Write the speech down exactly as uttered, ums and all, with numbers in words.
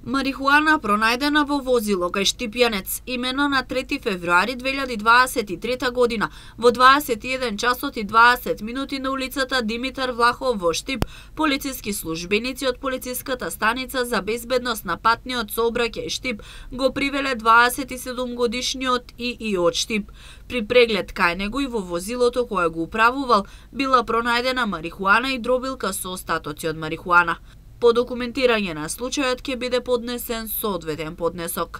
Марихуана пронајдена во возило кај Штипјанец, имено на трети февруари две илјади дваесет и трета година, во дваесет и еден часот и дваесет минути на улицата Димитар Влахов во Штип. Полициски службеници од полициската станица за безбедност на патниот сообраќај Штип го привеле дваесет и седум годишниот И И од Штип. При преглед кај него и во возилото кое го управувал била пронајдена марихуана и дробилка со остатоци од марихуана. По документирање на случајот ќе биде поднесен соодветен поднесок.